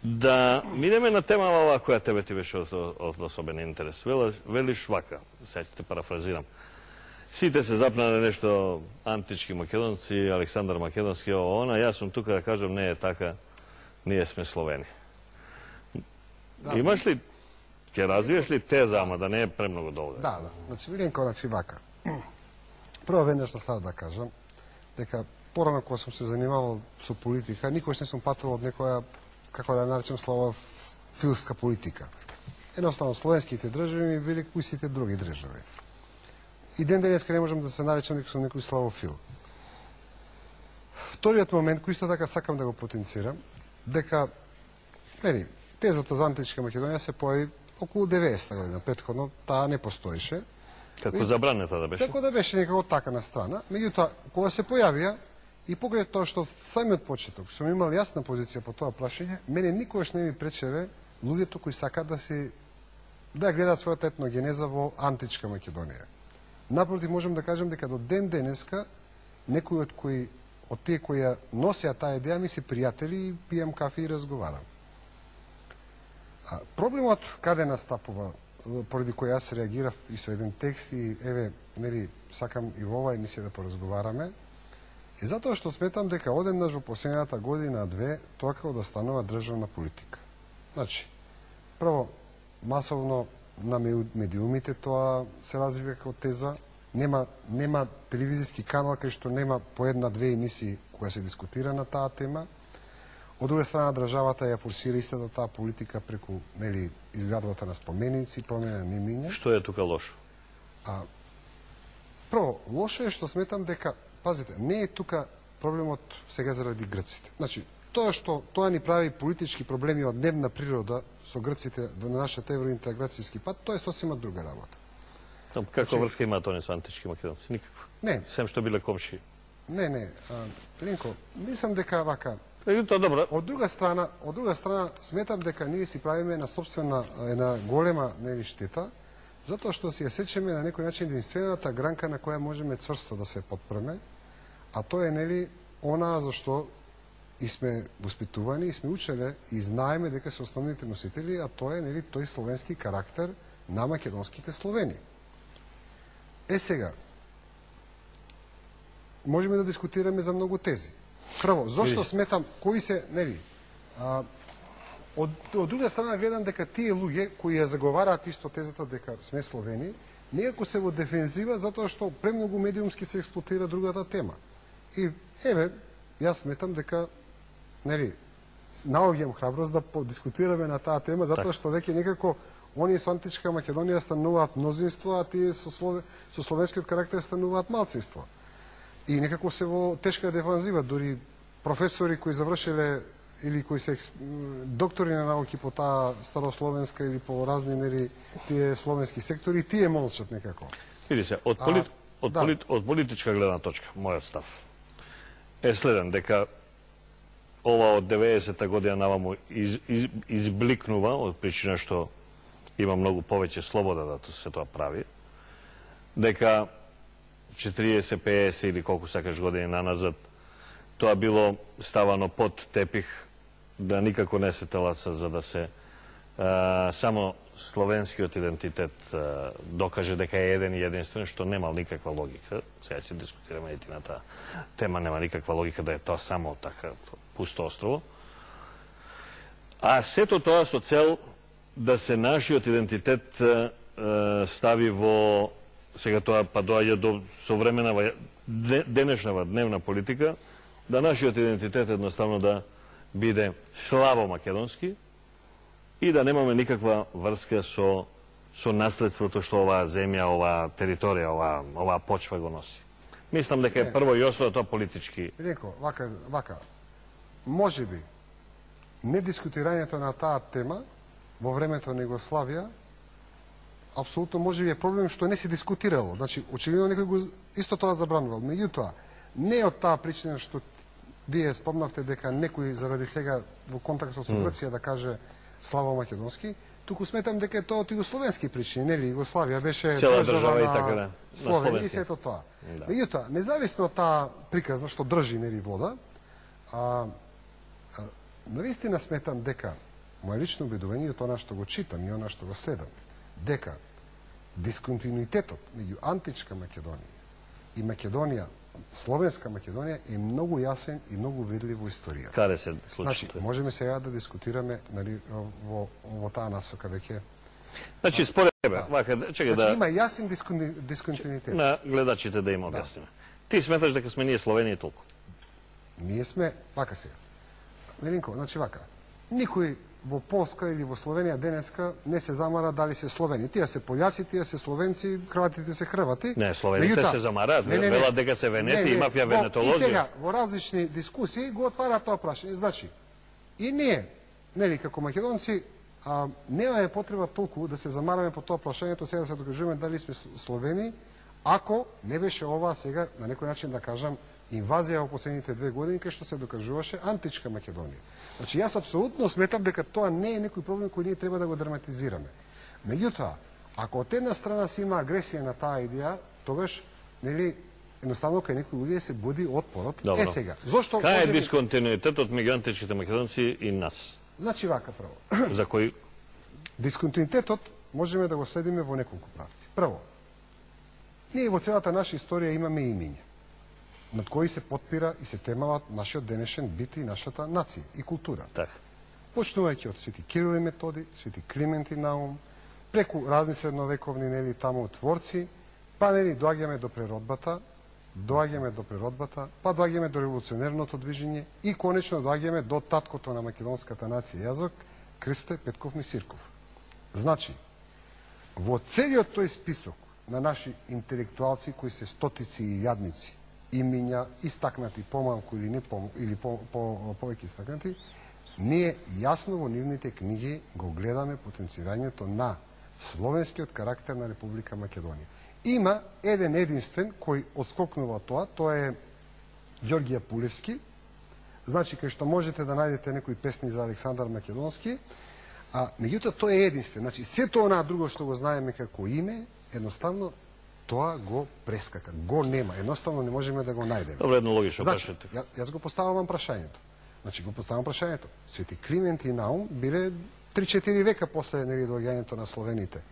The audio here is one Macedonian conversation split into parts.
Да минеме на тема ова која тебе ти беше од особен интерес. Велиш вака, сега ќе те парафразирам. Сите се запнале нешто антички македонци, Александар Македонски, она, јас сум тука да кажам, не е така, ние сме Словени. Да. Имаш ли, ќе развиеш ли теза, ама да не е премногу долга? Да. Значи, Миленко, вака. Прво веднаш да става да кажам, дека порано кога сум се занимавал со политика, никош не сум патил од некоја, како да наречем, славофилска политика. Едноставно, словенските држави ми били кои сите други држави. И ден денеска не можам да се наречам дека сум некој славофил. Вториот момент, кој исто така сакам да го потенцирам, дека, тезата за античка Македонија се појави околу 90 година, претходно таа не постоеше. Како забранета да беше? Како да беше некако така на страна. Меѓутоа, кога се појавија, и покрај тоа што самиот почеток сум имал јасна позиција по тоа прашање, мене никогаш не ми пречеве луѓето кои сакаат да гледаат својата етногенеза во античка Македонија. Напротив, можам да кажам дека до ден денеска некои од тие кои ја носеа таа идеја ми се пријатели и пијам кафе и разговарам. Проблемот каде настапува, поради кој јас реагирав и со еден текст и сакам и во ова емисија да поразговараме, е затоа што сметам дека одеднаш во последната година-две тоа како да станува државна политика. Значи, прво, масовно на медиумите тоа се развива како теза, нема телевизиски канал кај што нема по една-две емисии која се дискутира на таа тема. Од друга страна, државата ја форсира истата таа политика преку изградбата на споменици, промена на имиња. Што е тука лошо? Прво, лошо е што сметам дека, пазите, не е тука проблемот сега заради грците. Значи, тоа што тоа ни прави политички проблеми од дневна природа со грците на нашата евроинтеграцијски пат, тоа е сосема друга работа. Каква врска има тоа со антички македонци? Никаква. Не. Сем што биле комши. Не. Ленко, мислам дека вака. Тоа добро. Од друга страна сметам дека ние си правиме на собствена една голема штета, затоа што си ја сечеме на некој начин единствената гранка на која можеме цврсто да се потпреме, а тоа е она за што и сме воспитувани, и сме учеле, и знаеме дека се основните носители, а тоа е тој словенски карактер на македонските Словени. Сега, можеме да дискутираме за многу тези. Прво, зошто сметам, кои се, од друга страна гледам дека тие луѓе кои ја заговараат исто тезата дека сме Словени, некако се во дефензива затоа што премногу медиумски се експлоатира другата тема. И, јас сметам дека, наоѓам храброст да подискутираме на таа тема, затоа што веќе некако оние со античка Македонија стануваат мнозинство, а тие со словенскиот карактер стануваат малцинство. И некако се во тешка дефанзива, дури професори кои завршиле или кои се доктори на науки по таа старословенска или по разни тие словенски сектори, тие молчат некако. Види се, од политичка гледна точка, мојот став е следен, дека ова од 90-та година наваму избликнува од причина што има многу повеќе слобода да се тоа прави, дека 40, 50 или колку сакаш години наназад, тоа било ставано под тепих, да никако не се таласа за да се само словенскиот идентитет докаже дека е еден и единствен, што нема никаква логика. Сега ќе дискутираме и на таа тема, нема никаква логика да е тоа само така пусто острово. А сето тоа со цел да се нашиот идентитет стави во, сега тоа па доаѓа до современа денешна дневна политика, да нашиот идентитет едноставно да биде слабо македонски и да немаме никаква врска со наследството што оваа земја, оваа територија, оваа почва го носи. Мислам дека е прво и основно тоа политички. Леко, вака, можеби недискутирањето на таа тема во времето на Југославија апсолутно можеби е проблем што не се дискутирало. Значи, очигледно некој го исто тоа забранувал. Меѓутоа, не од таа причина што вие спомнавте дека некој заради сега во контакт со Грција да каже славо македонски, туку сметам дека е тоа од југословенски причини, нели? Југославија беше држава и така на Словенија и сето тоа. Меѓутоа, независно од таа приказна што држи вода, навистина сметам дека моje лично убедување е тоа што го читам и она што го следам, дека дисконтинуитетот меѓу античка Македонија и Македонија, словенска Македонија е многу јасен и многу видлив во историјата. Каде се случи Значи, тоа? можеме сега да дискутираме, нали, во таа насока веќе. Значи, според тебе, вака, чекај Значи, да има јасен дисконтинуитет. на гледачите да им објасниме. Ти сметаш дека сме ние Словенија и толку? Ние сме, вака сега. Милинко, значи вака. Никој во Полска или во Словенија денеска не се замара дали се Словени. Тие се пољаци, тие се словенци, хрватите се хрвати. Не, словените се замараат, велат дека се венети и мафија венетолозија. И сега, во различни дискусии го отвара тоа прашање. Значи, и ние, нели, како македонци, немаме потреба толку да се замараме по тоа прашањето, сега да се докажуваме дали сме Словени, ако не беше ова сега, на некој начин да кажам, инвазија во последните 2 години, кај што се докажуваше античка Македонија. Значи, јас апсолутно сметам дека тоа не е некој проблем кој ние треба да го драматизираме. Меѓутоа, ако од една страна се има агресија на таа идеја, тогаш, нели, едноставно кај некои луѓе се буди отпорот. Добро. Е сега, зошто Кај е можеме... дисконтинуитетот меѓу античките македонци и нас? Значи, вака прво. За кој? Дисконтинуитетот можеме да го следиме во неколку правци. Прво, ние во целата наша историја имаме имиња над кои се потпира и се темалат нашиот денешен бит и нашата нација и култура. Така. Почнувајќи од Свети Кирил и Методи, Свети Климент и Наум, преку разни средновековни, нели, таму творци, па, нели, доаѓаме до природбата, па доаѓаме до револуционерното движење и конечно доаѓаме до таткото на македонската нација јазок, Кристе Петков Мисирков. Значи, во целиот тој список на наши интелектуалци кои се стотици и јадници, имиња истакнати помалку или не или повеќе истакнати, ние јасно во нивните книги го гледаме потенцирањето на словенскиот карактер на Република Македонија. Има еден единствен кој отскокнува тоа е Ѓорѓија Пулевски. Значи, кај што можете да најдете некои песни за Александар Македонски, меѓутоа тој е единствен. Значи, сето онаа друго што го знаеме како име, едноставно тоа го прескака, го нема, едноставно не можеме да го најдеме. Добро, едно логично значи, прашање. јас го поставам прашањето. Значи, го поставам прашањето. Свети Климент и Наум биле 3-4 века после, нели, доаѓањето на словените.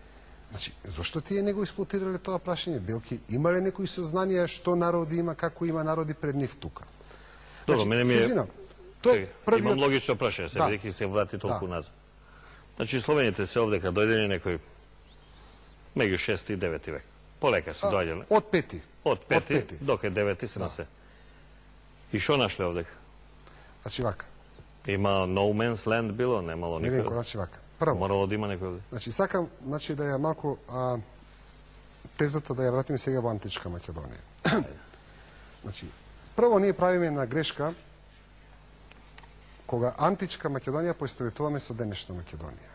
Значи, зошто тие не го експлоатирале тоа прашање? Белки, има ли некои сознанија што народи има, како има народи пред нив тука? Добро, мене ми е... Имам логично прашање, се бидејќи се врати толку назад. Значи, словените се овдека дојдени некој меѓу 6 и 9 век. Полека се доаѓале. Од пети. Од пети, дока 9 се на се. И што нашле овдека? Значи вака. Има no man's land било, немало никој. Миленко, значи вака. Прво. Морало да има некој овде. Значи сакам, значи да ја малку тезата да ја вратиме сега во античка Македонија. Значи, прво ние правиме една грешка кога античка Македонија поистоветуваме со денешна Македонија.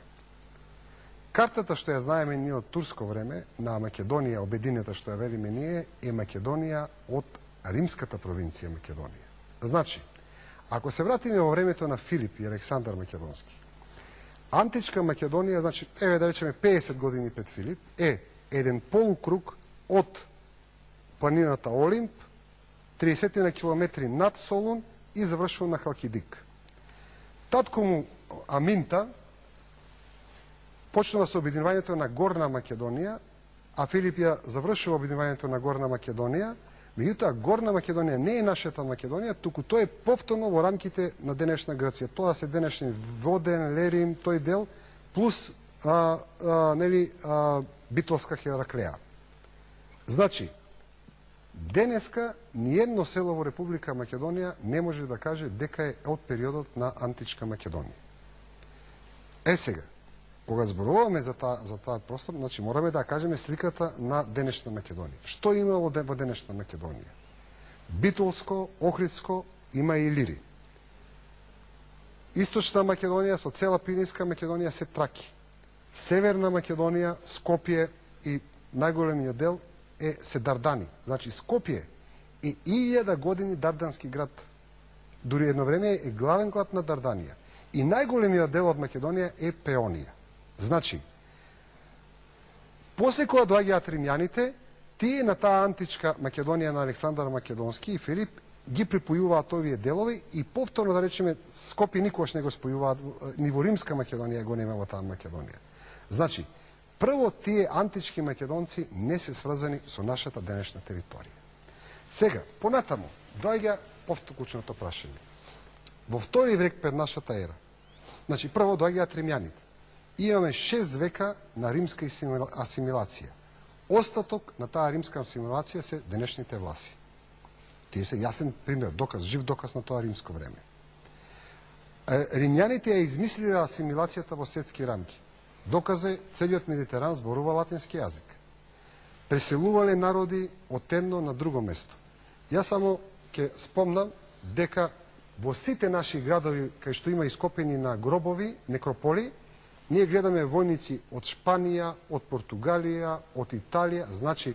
Картата што ја знаеме ние од турско време на Македонија, обединета што ја велиме ние, е Македонија од римската провинција Македонија. Значи, ако се вратиме во времето на Филип и Александар Македонски, античка Македонија, значи, еве да речеме 50 години пред Филип, е еден полукруг од планината Олимп, 30 на километри над Солун и завршува на Халкидик. Татко му Аминта почнува со обединувањето на Горна Македонија, а Филип ја завршува обединувањето на Горна Македонија. Меѓутоа, Горна Македонија не е нашата Македонија, туку тоа е повторно во рамките на денешна Грција. Тоа се денешни Воден, Лерин, тој дел, плюс Битолска Хераклеа. Значи, денеска ниедно село во Република Македонија не може да каже дека е од периодот на античка Македонија. Е сега, кога зборуваме за таа простор, значи мораме да кажеме сликата на денешна Македонија. Што имало во денешна Македонија? Битолско, Охридско, има и Илири. Источна Македонија со цела Пиринска Македонија се Траки. Северна Македонија, Скопје и најголемиот дел се Дардани. Значи Скопје е 1000 години дардански град. Дури едно време е главен град на Дарданија. И најголемиот дел од Македонија е Пеонија. Значи, после кога доаѓаат римјаните, тие на таа античка Македонија на Александар Македонски и Филип ги припојуваат овие делови и повторно, да речеме, Скопје никогаш не го спојуваат, ни во Римска Македонија го нема во таа Македонија. Значи, прво тие антички македонци не се сврзани со нашата денешна територија. Сега, понатаму, доаѓа повтокучното прашање. Во втори век пред нашата ера, значи, прво доаѓаат римјаните. Имаме 6 века на римска асимилација. Остаток на таа римска асимилација се денешните власи. Тие се јасен пример, доказ, жив доказ на тоа римско време. Римјаните ја измислиле асимилацијата во светски рамки. Доказ е целиот Медитеран зборува латински јазик. Преселувале народи од едно на друго место. Јас само ќе спомнам дека во сите наши градови кај што има ископени на гробови, некрополи, ние гледаме војници од Шпанија, од Португалија, од Италија, значи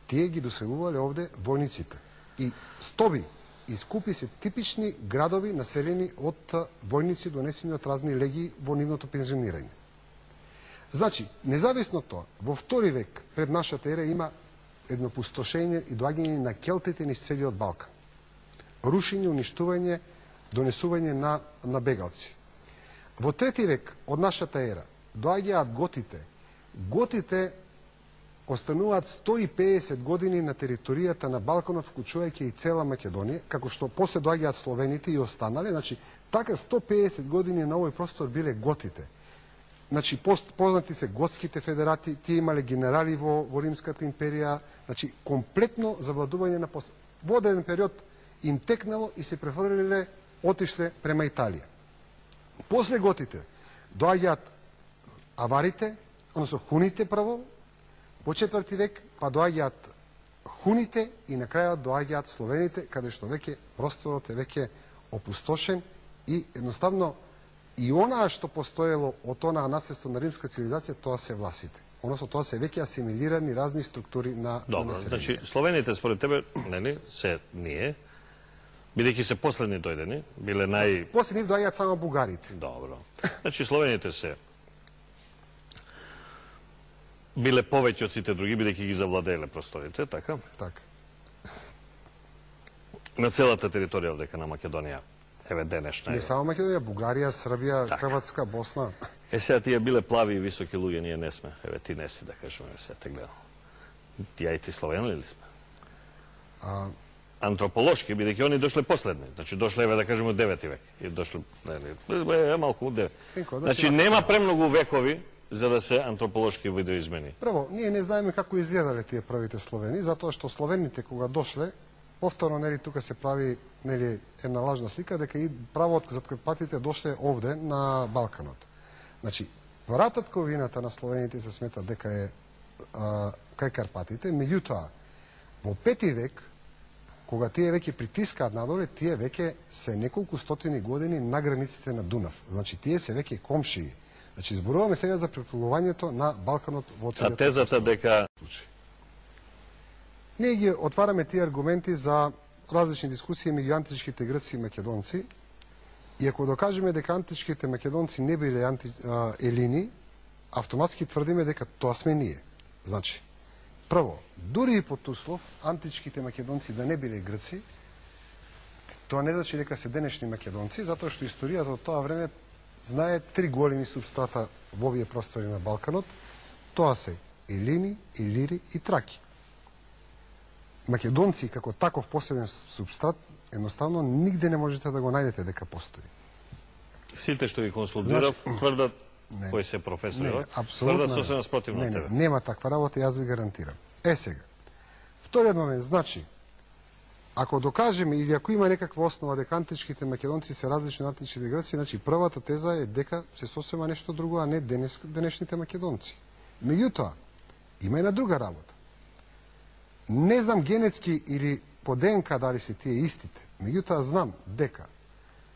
тие ги доселувале овде војниците. И Стоби и Скупи се типични градови населени од војници донесени од разни легии во нивното пензионирање. Значи, независно од тоа, во втори век пред нашата ера има едно пустошење и доаѓање на келтите низ целиот Балкан. Рушење, уништување, донесување на бегалци. Во трети век од нашата ера доаѓаат готите. Готите остануваат 150 години на територијата на Балканот, вклучувајќи и цела Македонија, како што после доаѓаат словените и останале, значи така 150 години на овој простор биле готите. Значи познати се готските федерати, тие имале генерали во Римската империја, значи комплетно завладување на во одреден период им текнало и се префрлиле, отишле према Италија. После готите доаѓаат аварите, односно хуните прво, во 4 век, па доаѓаат хуните и на крајот доаѓаат словените, каде што веќе просторот е веќе опустошен и едноставно и онаа што постоело од онаа наследство на римска цивилизација, тоа се власите. Односно тоа се веќе асимилирани разни структури на Добро, население. значи словените според тебе, нели, се ние, бидејќи се последни дојдени, биле После нив доаѓаат само бугарите. Добро. Значи словените се биле повеќе од сите други, бидејќи ги завладееле просторите, така? Така. На целата територија овдека на Македонија, еве денешна. Не само Македонија, Бугарија, Србија, Така. Хрватска, Босна. Сега тие биле плави и високи луѓе, ние не сме. Еве ти не си, да кажеме, сега те гледам. Ја и ти словени ли сме? Антрополошки, бидејќи они дошле последни. Значи дошле, еве да кажеме, од 9 век. И дошле, нели, малку од 9. Значи нема премногу векови за да се антрополошки видоизмени. Прво, ние не знаеме како изгледале тие првите словени, затоа што словените кога дошле, повторно нели тука се прави нели една лажна слика дека и право од Карпатите дошле овде на Балканот. Значи, врататковината на словените се смета дека е кај Карпатите, меѓутоа во 5 век кога тие веќе притискаат надоле, тие веќе се неколку стотини години на границите на Дунав. Значи тие се веќе комшии. Значи зборуваме сега за преплувувањето на Балканот во целиот. А тезата дека ние ги отвараме тие аргументи за различни дискусии меѓу античките грци и македонци. И ако докажеме дека античките македонци не биле елини, автоматски тврдиме дека тоа сме ние. Значи, прво, дури и под услов античките македонци да не биле грци, тоа не значи дека се денешни македонци, затоа што историјата од тоа време знае 3 големи субстрата во овие простори на Балканот. Тоа се елини, илири и траки. Македонци како таков посебен субстрат едноставно нигде не можете да го најдете дека постои. Сите што ги консултирав тврдат кои се професори, тврдат сосема спротивно од тебе. Нема таква работа, јас ви гарантирам. Сега, вториот момент, значи, ако докажеме или ако има некаква основа дека античките македонци се различни од античките грци, значи првата теза е дека се сосема нешто друго, а не денешните македонци. Меѓутоа, има една друга работа. Не знам генетски или по ДНК дали се тие истите, меѓутоа знам дека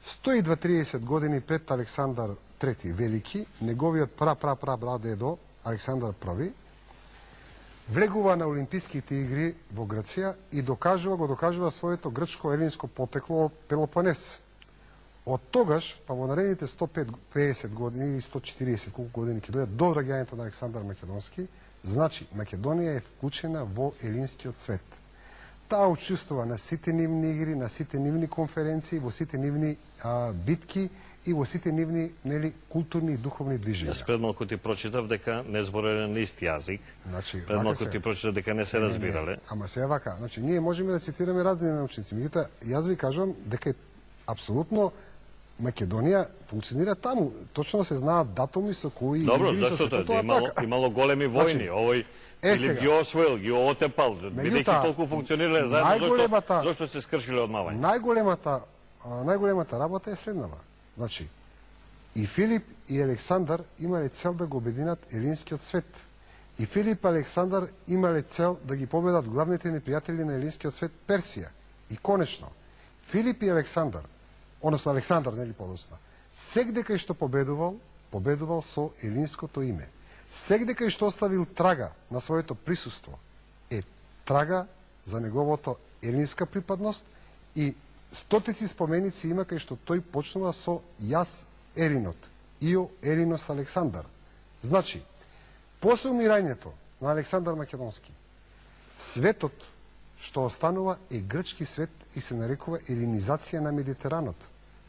120-30 години пред Александар III Велики, неговиот прадедо Александар I, влегува на Олимписките игри во Грција и го докажува своето грчко-елинско потекло од Пелопонес. Од тогаш, па во наредните 150 години или 140 колку години ќе дојдат до враѓањето на Александар Македонски, значи Македонија е вклучена во елинскиот свет. таа учествува на сите нивни игри, на сите нивни конференции, во сите нивни битки и во сите нивни, нели, културни и духовни движења. Јас пред малку ти прочитав дека не збореле на ист јазик. Значи, пред малку ти прочитав дека не се разбирале. Ама сега вака, значи ние можеме да цитираме разни научници, меѓутоа јас ви кажувам дека апсолутно Македонија функционира таму. Точно се знаат датуми со кои Добро, игри, зашто тоа тоа имало големи војни, овој Филип ги освоил, ги отепал, бидејќи толку функционирале заедно, зашто се скршиле од мавање? Најголемата работа е следнава. Значи, и Филип и Александар имале цел да го обединат елинскиот свет. И Филип и Александар имале цел да ги победат главните непријатели на елинскиот свет, Персија. И конечно, Филип и Александар, односно Александар, нели подоцна, сегде кај што победувал со елинското име. Сегде кај што оставил трага на своето присуство е трага за неговото елинска припадност и стотици споменици има кај што тој почнува со јас Еринот, Ио Еринос Александар. Значи, после умирањето на Александар Македонски, светот што останува е грчки свет и се нарекува елинизација на Медитеранот.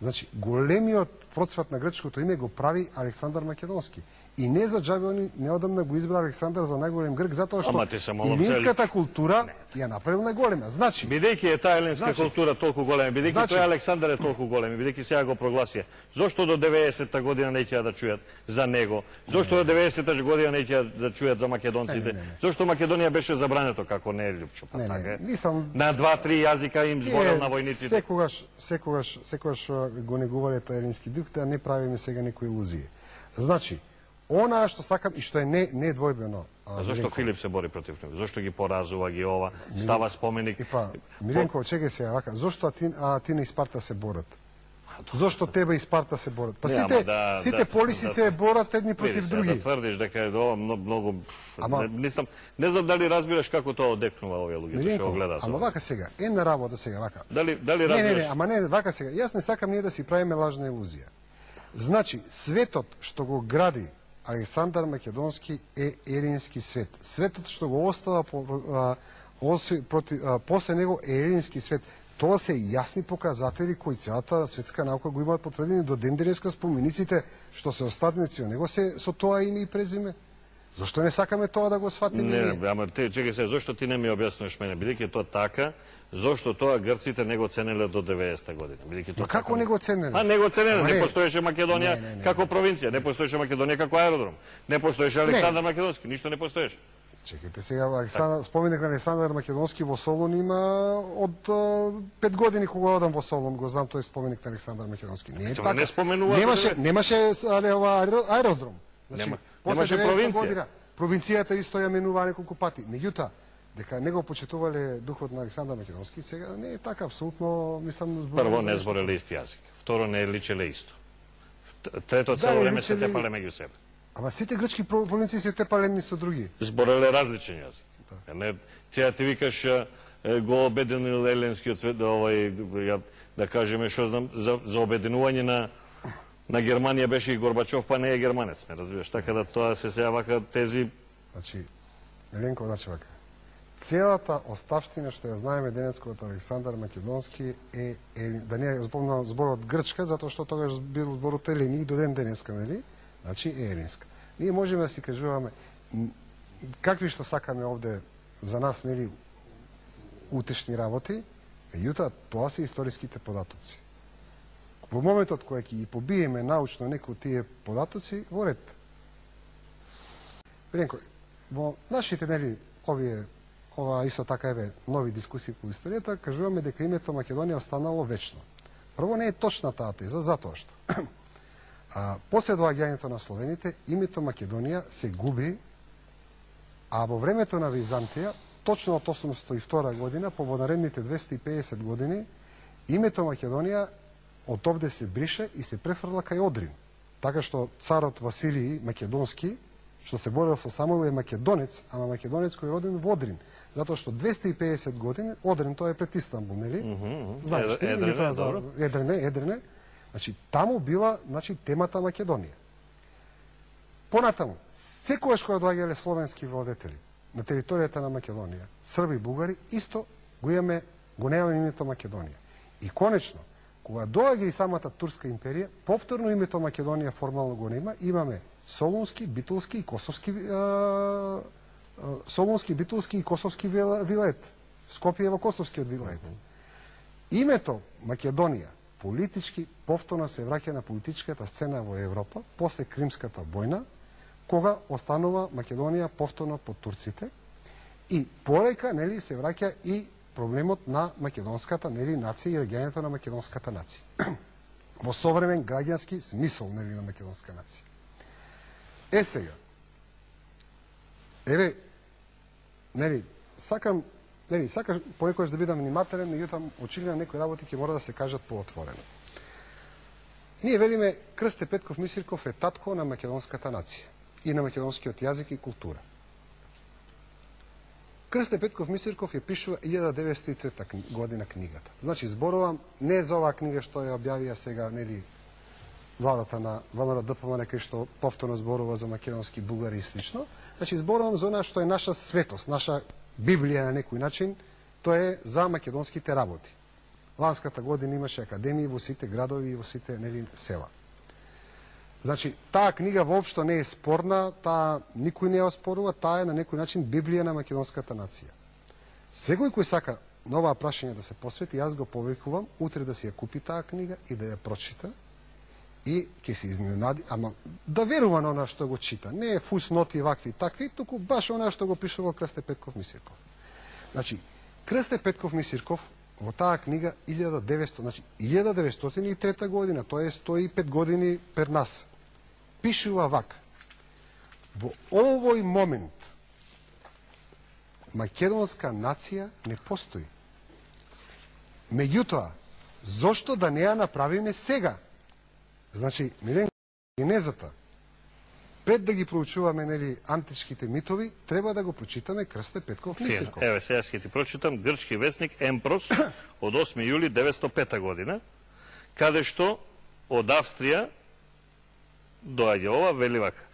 Значи, големиот процват на грчкото име го прави Александар Македонски. И не за џабе они неодамна го избра Александар за најголем грк, затоа што елинската култура ја направил најголема. Значи, бидејќи е таа елинска култура толку голема, бидејќи тој Александар е толку голем, бидејќи сега го прогласија, зошто до 90-та година не ќе да чујат за него? Зошто до 90-та година не ќе да чујат за македонците? Зошто Македонија беше забрането како не е Лјупчо, па така е? На 2-3 јазика им зборел на војниците. Секогаш го негувале тој елински дух, да не правиме сега некои илузии. Значи, она што сакам и што е недвојбено. Зошто Филип се бори против него? Зошто ги поразува, ги ова, става споменик? Миленко, чекај сега, вака, зошто Атина и Спарта се борат? Зошто тебе и Спарта се борат? Па сите полиси се борат едни против други. Да тврдиш дека е ова многу... Не знам дали разбираш како тоа одекнува овие луѓе што го гледаат. Ама вака сега, една работа сега, вака. Дали разбираш? Не, вака сега. Јас не сакам ние да си правиме лажна илузија. Значи, светот што го гради Александар Македонски е елински свет. Светот што го остава после него е елински свет. Тоа се јасни показатели кои целата светска наука го имаат потврдени до ден денеска. Спомениците што се остатници од него се со тоа име и презиме. Зошто не сакаме тоа да го сватиме? Не, ама чекај се, зошто ти не ми објаснуваш мене? Бидејќи тоа така, зошто тоа грците не го ценеле до 90-та година? Но како не го ценеле? Не го ценеле, не постоеше Македонија како провинција, не постоеше Македонија како аеродром, не постоеше Александар Македонски, ништо не постоеше. Чекайте сега, споменик на Александар Македонски во Солун има од 5 години кога одам во Солун, го знам тој споменик на Александар Македонски. Не е така. Немаше аеродром. Немаше провинција. Провинцијата исто ја менува неколку пати. Меѓутоа, дека не го почитувале духот на Александар Македонски, сега не е така, апсолутно, мислам... Прво, не збореле ист јазик. Второ, не личеле исто. Трето, цело време се тепале меѓу себе. Ама сите грчки провинции се тепале едни со други. Збореле различен јазик. Тија ти викаш го обединил еленскиот свет, да кажеме, што знам, за обединување на Германија беше и Горбачов, па не е германец, ме разбираш. Така да тоа се сега вака тези... Значи, Еленко, значи вака. Целата оставштина што ја знаеме денеска од Александар Македонски е, да не запомнам зборот грчка, затоа што тогаш бил зборот елени и до ден денеска, нели? Значи е елинска. Ние можеме да си кажуваме какви што сакаме овде за нас, нели, утешни работи, меѓутоа тоа се историските податоци. Во моментот кој ќе ги побиеме научно некои од тие податоци, во ред. Еленко, во нашите, нели, ова исто така еве нови дискусии по историјата, кажуваме дека името Македонија останало вечно. Прво не е точна таа теза, затоа што после доаѓањето на словените, името Македонија се губи, а во времето на Византија, точно од 802 година, по наредните 250 години, името Македонија од овде се брише и се префрла кај Одрин. Така што царот Василий Македонски, што се борел со Самуил, е македонец, ама македонец кој е роден во Одрин. Затоа што 250 години, Одрин тоа е пред Истанбул, нели? Знаеш, Едрене. Значи, таму била, значи, темата Македонија. Понатаму, секогаш кога доаѓале словенски владетели на територијата на Македонија, срби и бугари, исто го немаме името Македонија. И конечно, кога доаѓа и самата Турска империја, повторно името Македонија формално го нема, имаме Солунски, Битолски и Косовски вилает. Скопје Косовскиот вилает. Името Македонија политички повторно се враќа на политичката сцена во Европа после Кримската војна, кога останува Македонија повторно под турците и полека се враќа и проблемот на македонската нација и реагирањето на македонската нација. Во современ граѓански смисол на македонска нација. Сега, сакам понекогаш да бидам внимателен, меѓутоа очигледно некои работи ќе мора да се кажат поотворено. Ние велиме Крсте Петков Мисирков е татко на македонската нација и на македонскиот јазик и култура. Крсте Петков Мисирков ја пишува 1903 година книгата. Значи, зборувам не за оваа книга што ја објавија сега, владата на ВМРО ДПМН, кај што повторно зборува за македонски бугари и слично. Значи, зборувам за она што е наша светост, наша Библија на некој начин, тоа е за македонските работи. Ланската година имаше академии во сите градови и во сите села. Значи, таа книга воопшто не е спорна, таа никој не ја оспорува, таа е на некој начин Библија на македонската нација. Секој кој сака на оваа прашање да се посвети, јас го повикувам утре да си ја купи таа книга и да ја прочита и ќе се изненади, ама да верува на она што го чита. Не е фусноти вакви и такви, туку баш она што го пишувал Крсте Петков Мисирков. Значи, Крсте Петков Мисирков во таа книга 1903 година, тоа е 105 години пред нас, пишува вака: во овој момент македонска нација не постои. Меѓутоа, зошто да не ја направиме сега? Значи, Милен, генезата, пред да ги проучуваме античките митови, треба да го прочитаме Крсте Петков Мисирков. Еве, сега ќе ти прочитам грчки вестник Емпрос од 8 јули 905 година, каде што од Австрија доаѓа ова, вели вака: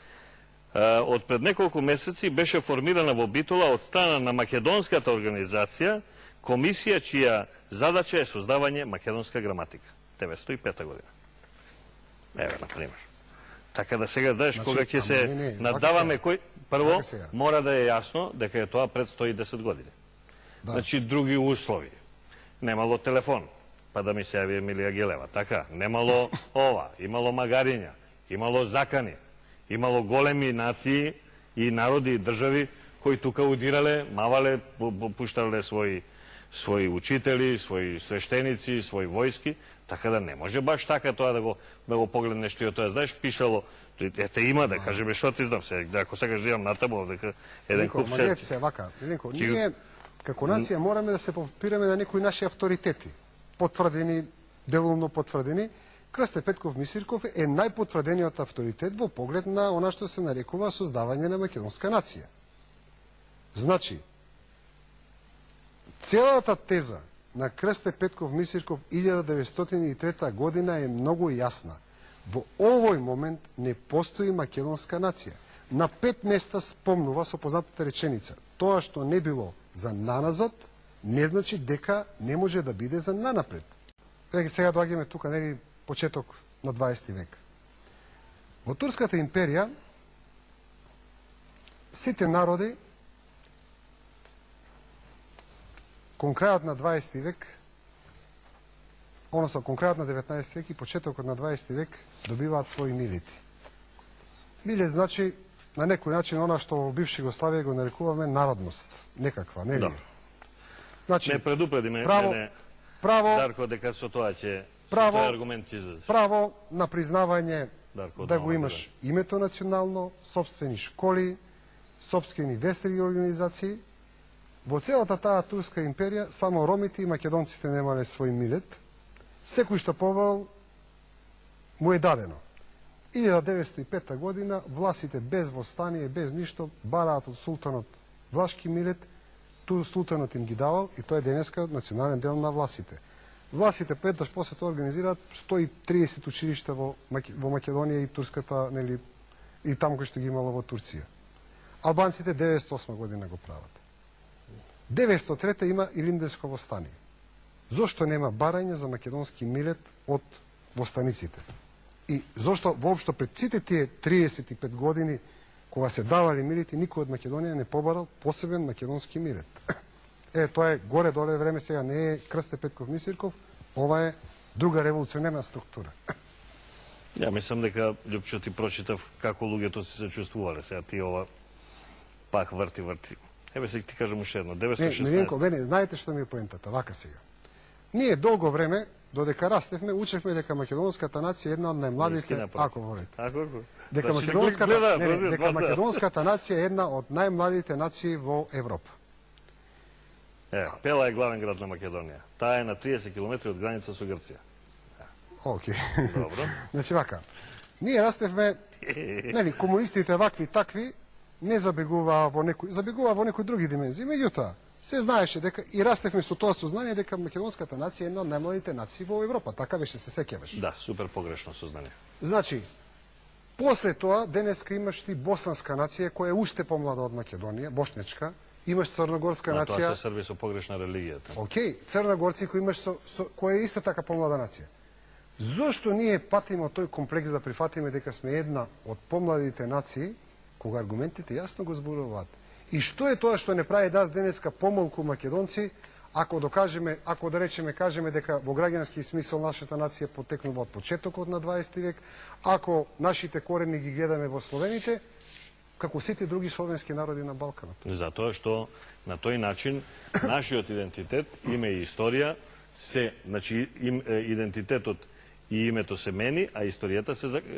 од пред неколку месеци беше формирана во Битола од страна на македонската организација комисија чија задача е создавање македонска граматика. 905 година. Еве, например. Така да сега знаеш, кога ќе се надаваме кој... Прво, мора да е јасно дека е тоа пред 110 години. Значи, други услови. Немало телефон, па да ми се јави Емилија Гелева. Така, немало ова, имало магариња, имало закани, имало големи нации и народи и држави кои тука удирале, мавале, пуштале своји учители, своји свештеници, своји војски. Така да не може баш така тоа да го погледнеш ти од тоа. Знаеш, пишало, ете има да кажеме што ти знам се, ако сакаш да имам натаму, дека еден куп се... Милко, се вака, Миленко, ние како нација мораме да се попираме на некои наши авторитети, потврдени, делумно потврдени. Крсте Петков Мисирков е најпотврдениот авторитет во поглед на она што се нарекува создавање на македонска нација. Значи, целата теза на Крсте Петков Мисирков 1903 година е многу јасна. Во овој момент не постои македонска нација. На 5 места спомнува со познатата реченица: тоа што не било за наназад, не значи дека не може да биде за нанапред. Сега доаѓаме тука, почеток на 20 век. Во Турската империја сите народи кон крајот на 20 век, односно кон крајот на 19 век и почетокот на 20 век добиваат своји милити. Милит значи на некој начин она што во бивша Југославија го нарекуваме народност, некаква, нели? Значи, не предупреди ме, Дарко, дека со тоа ќе аргумент излезе. Право на признавање да го имаш името национално, собствени школи, собствени верски организации. Во целата таа Турска империја само ромите и македонците немале свој милет. Секој што побрал му е дадено. 1905 година власите без востание, без ништо, бараат од султанот влашки милет, ту султанот им ги давал и тоа е денеска национален дел на власите. Власите петаш после тоа организираат 130 училишта во Македонија и турската, и таму кој што ги имало во Турција. Албанците 1908 година го прават. 903 има Илинденско востание. Зошто нема барање за македонски милет од востаниците? И зошто воопшто пред сите тие 35 години кога се давали милети, никој од Македонија не побарал посебен македонски милет. Тоа е горе-доле време, сега не е Крсте Петков Мисирков, ова е друга револуционерна структура. Ја мислам дека, Љупчо, ти прочитав како луѓето се чувствувале. Сега ти ова пак врти. Еве сега ти кажам уште едно. 916. Милинко, знаете што ми е поентата, вака сега. Ние долго време, додека растевме, учевме дека македонската нација е една од најмладите, ако волите. Дека македонската нација е една од најмладите нации во Европа. Пела е главен град на Македонија. Таа е на 30 км од граница со Грција. Окей. Добро. Значи вака, ние растевме, комунистите вакви такви, не забегуваа во некои други димензии. Меѓутоа, се знаеше дека и растевме со тоа сознание дека македонската нација е една од најмладите нации во Европа. Така беше, се сеќаваш. Да, супер погрешно сознание. Значи, после тоа, денеска имаш ти босанска нација која е уште помлада од Македонија, бошнечка, имаш црногорска нација. Тоа се срби со погрешна религија. Океј, црногорци кои имаш која е исто така помлада нација. Зошто ние патиме тој комплекс да прифатиме дека сме една од помладите нации, кога аргументите јасно го зборуваат? И што е тоа што не прави денеска помалку македонци, ако да речеме, кажеме дека во граѓански смисол нашата нација потекнува од почетокот на 20 век, ако нашите корени ги гледаме во словените, како сите други словенски народи на Балканот. Затоа што на тој начин нашиот идентитет, име и историја, значи идентитетот и името се мени, а историјата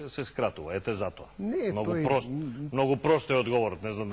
се скратува. Ете затоа. Многу прост е одговорот, не знам